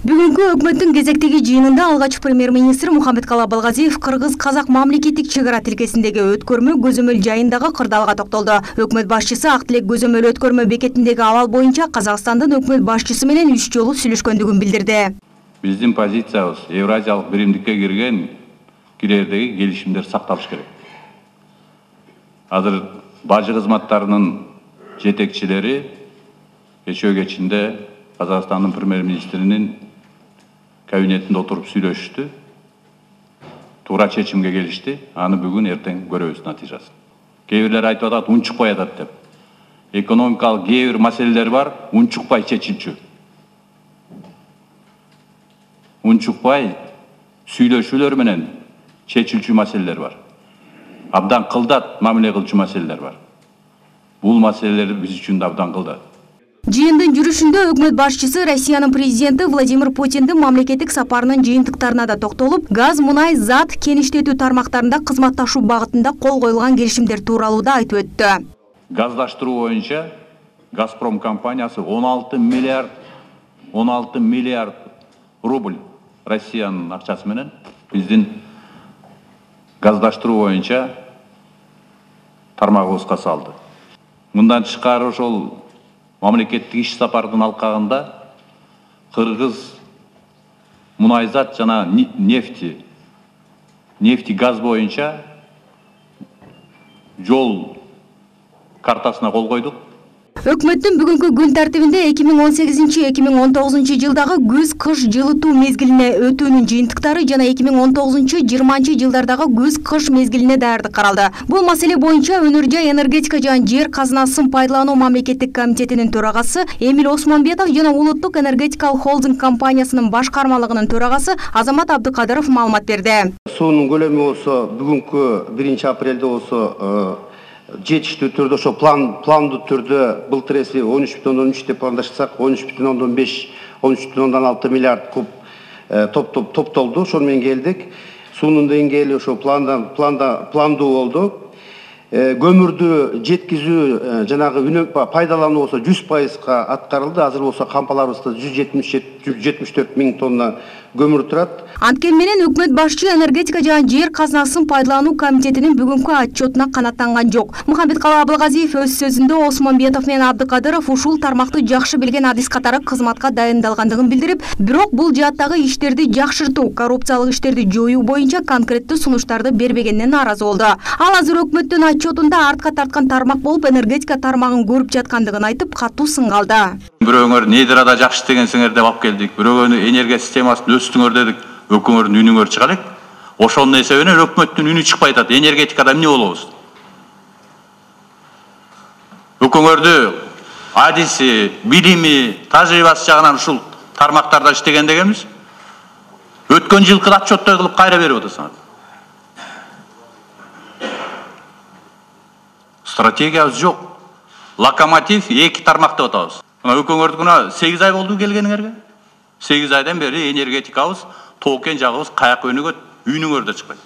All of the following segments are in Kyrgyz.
Бүгүнкү өкмөттүн кезектеги жыйынында алгач премьер-министр Мухаммедкалый Абылгазиев кыргыз-казак мамлекеттик чек ара тилкесиндеги өткөрмө көзөмөл жайындагы кырдаалга токтолду. Өкмөт башчысы Ак Тилек көзөмөл өткөрмө бекетиндеги абал боюнча Казакстандын өкмөт башчысы менен 3 жолу сүйлөшкөндүгүн билдирди. Биздин позициябыз Евразиялык биримдикке кирердеги келишимдер сакталыш керек. Азыр бажы кызматтарынын жетекчилери кечээ кечинде Казакстандын премьер-министринин кабинетинде отуруп сүйлөшүштү. Туура чечимге келишти. Аны бүгүн эртең көрөбүз натыйжасын. Кээ бирлер айтып атат, унчукпай атат деп. Экономикалык кээ бир маселелер бар, унчукпай чечилчү. Унчукпай сүйлөшүүлөр менен чечилчү маселелер бар. Абдан кылдат мамиле кылчу маселелер бар. Бул маселелер биз үчүн да абдан кылдат. Жыйындын жүрүшүндө өкмөт башчысы Россиянын президенти Владимир Путиндин мамлекеттик сапарынын жыйынтыктарына да токтолуп, газ, мунай, зат, кен иштетүү тармактарында кызматташуу багытында кол коюлган келишимдер тууралуу да айтып өттү. Газдаштыруу боюнча Газпром компаниясы 16 миллиард рубль Россиянын акчасы менен биздин газдаштыруу боюнча тармагыбызга салды. Мындан тышкары ошол мамлекеттик иш сапардын алкагында кыргыз мунайзат жана нефти газ боюнча жол картасына кол койдук. Өкмөттүн бүгүнкү күн тартибинде 2018-2019 жылдагы күз-кыш жылытуу мезгилине өтүүнүн жыйынтыктары жана 2019-20 жылдардагы күз-кыш мезгилине даярдык каралды. Бул маселе боюнча Өнөр жай энергетика жана жер казынасын пайдалануу мамлекеттик комитетинин төрагасы Эмил Осмонбетов жана Улуттук энергетикалык холдинг компаниясынын башкармалыгынын төрагасы Азамат Абдыкадыров маалымат берди. Суунун көлөмү болсо бүгүнкү 1-апрелде болсо жетиштүү түрдө ошо пландуу түрдө былтыр эси 13,3 деп пландашсак 13,5 13,6 миллиард куб топтолду. Ошону менен келдик. Суунун деңгээли ошо пландуу болду. Көмүрдү жеткизүү жанагы пайдалануу болсо 100%га аткарылды. Азыр болсо кампаларыбызда 174 миң тонна көмүр турат. Анткени менен өкмөт башчы энергетика жана жер казынасын пайдалануу комитетинин бүгүнкү отчетуна канааттанган жок. Мухаммедкалый Абылгазиев өз сөзүндө Осмонбетов менен Абдыкадыров ушул тармакты жакшы билген адис катары кызматка дайындалгандыгын билдирип, бирок бул жааттагы иштерди жакшыртуу, коррупциялык иштерди жоюу боюнча конкреттүү сунуштарды бербегенине нааразы болду. Ал азыр өкмөттүн отчетунда артка тарткан тармак болуп энергетика тармагын көрүп жаткандыгын айтып, катуу сынгалды. Бирөөңөр недрада жакшы дегенсиңер деп алып келдик. Бирөөгө энергия системасын өстүңөр дедик. Өкмөттүн үнүңөр чыга элек. Ошонун эсебинен өкмөттүн үнү чыкпай атат. Энергетикада эмне болобуз? Өкмөттү адиси, билими, тажрыйбасы жагынан ушул тармактарда иштеген дегенбиз. Өткөн жылкы отчеттой кылып кайра берип атасыңар. Стратегиябыз жок. Локомотив 2 тармак деп атабыз. Өкмөттүн 8 ай болду келгениңерге. 8 айдан бери энергетикабыз, токен жагыбыз каяка өнүгөт, үйүнүңөрдө чыкпайт.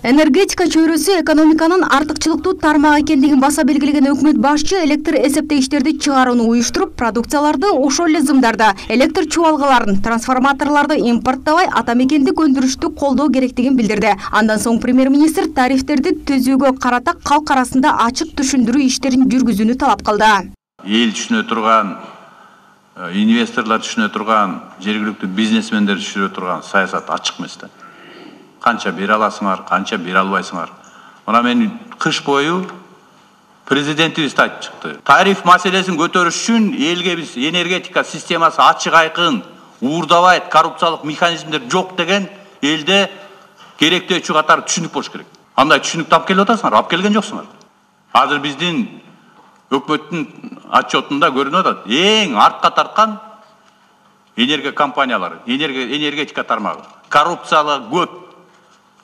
Энергетика чөйрөсү экономиканын артыкчылыктуу тармагы экендигин баса белгилеген өкмөт башчы электр эсептегичтерди чыгарууну уюштуруп, продукцияларды ошол эле зымдарда, электр чубалгаларын, трансформаторлорду импорттабай атамекендик өндүрүштү колдоо керектигин билдирди. Андан соң премьер-министр тарифтерди түзүүгө карата калк арасында ачык түшүндүрүү иштерин жүргүзүүнү талап кылды. Эл түшүнө турган, инвесторлор түшүнө турган, жергиликтүү бизнесмендер түшүнө турган саясат ачык эмес да. Канча бере аласыңар, канча бере албайсыңар. Мына мен кыш бою президентибиз айтып чыкты. Тариф маселесин көтөрүш үчүн элге биз энергетика системасы ачык айкын, уурдабайт, коррупциялык механизмдер жок деген элде керектөөчү катары түшүнүк болуш керек. Андай түшүнүктү алып келип атасыңар, алып келген жоксуңар. Азыр биздин өкмөттүн отчетунда көрүнүп атат. Эң артка тарткан энергия компаниялары, энергетика тармагы. Коррупциялык көп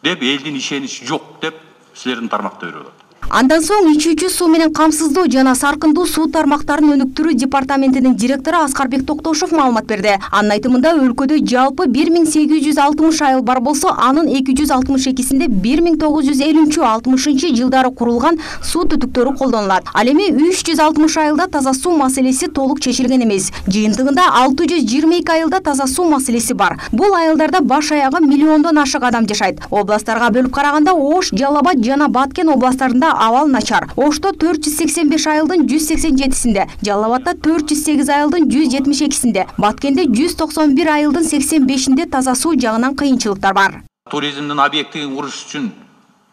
деп элдин ишеничи жок деп силердин тармакта берип атат. Андан соң ичүүчү суу менен камсыздоо жана саркындуу суу тармактарын өнүктүрүү департаментинин директору Аскарбек Токтошов маалымат берди. Анын айтымында өлкөдө жалпы 1860 айыл бар болсо, анын 262синде 1950-60 жылдары курулган суу түтүктөрү колдонулат. Ал эми 360 айылда таза суу маселеси толук чечилген эмес. Жыйынтыгында 622 айылда таза суу маселеси бар. Бул айылдарда баш аягы миллиондон ашык адам жашайт. Областтарга бөлүп караганда Ош, Жалал Абад жана Баткен областтарында абал начар. Ошто 485 айылдын 187синде, Жалал Абадта 408 айылдын 172синде, Баткенде 191 айылдын 85синде таза суу жагынан кыйынчылыктар бар. Туризмдин объектин куруш үчүн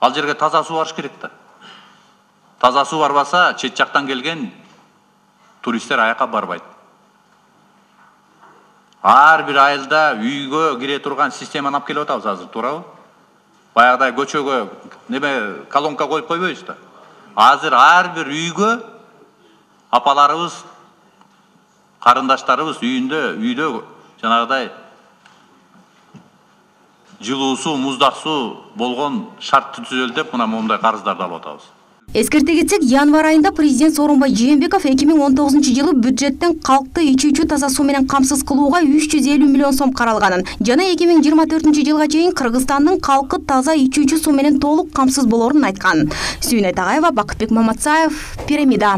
ал жерге таза суу барыш керек да. Таза суу барбаса, чет жактан келген туристтер аяка барбайт. Ар бир айылда үйгө кире турган системаны алып келип атабыз азыр, туурабы? Баягыдай көчөгө колонка коюп койбойбуз да. Азыр ар бир үйгө апаларыбыз, карындаштарыбыз үйдө жанагыдай жылуу суу, муздак суу болгон шарт түзөлдөп, мына момундай карыздарды алып атабыз. Эскерте кетсек, январь айында президент Сооронбай Жээнбеков 2019 жылы бюджеттен калкты ичүүчү таза суу менен камсыз кылууга 350 миллион сом каралганын жана 2024 жылга чейин Кыргызстандын калкы таза ичүүчү суу менен толук камсыз болорун айткан. Сүйүнөй Тагайева, Бакытбек Маматсаев, Пирамида.